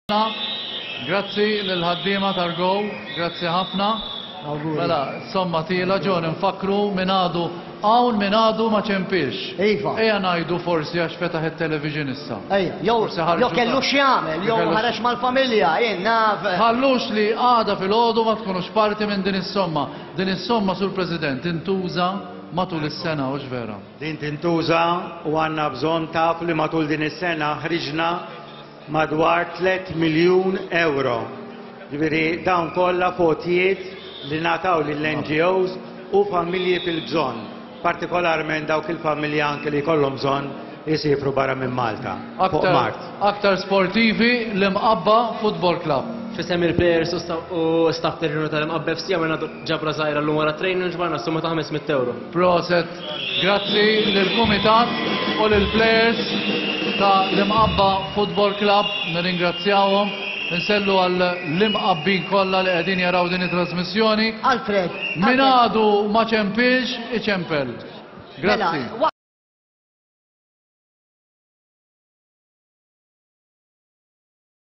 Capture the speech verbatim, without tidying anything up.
Grazzi lill-ħaddiema tal-Go, grazzi ħafna. Mela, somma tila ġon nfakru min għadu hawn min għadu ma ċempilx. Iva. Ejja ngħidu forsi għax fetaħ it-television issa. Ejja, jew Forsi ħarġu jew kellu ta' x'jagħmel, jew Kellu ħareġ mal-familja, jien naf. Ħallux li għada filgħodu ma tkunux parti minn din is-somma. Din is-somma sur President intuża matul is-sena u vera. Din tintuża u għandna bżonn taf li matul din is-sena ħriġna madwar tliet miljun euro. Ġifieri dawn kollha għotjiet li ngħataw lill-NGOs u familji fil-bżonn, partikolarment dawk il-familji anke li jkollhom bżonn jisifru barra minn Malta. Fuq Aktar, Mart. aktar sportivi l-Imqabba Football Club. F'isem il-players u sta- u staff terrenu tal-Imqabba FC għamilna ġabra żgħira llum wara training ġbarna summa ta' ħames mitt euro. Proset, grazzi lill-Kumitat u lill-players ta' l-Imqabba Football Club, nirringrazzjawhom. Insellmu għall-Imqabbin kollha li qegħdin jaraw din it-trasmissjoni. Alfred. Min Alfred, għadu ma ċempilx, iċempel. Grazzi. Mela,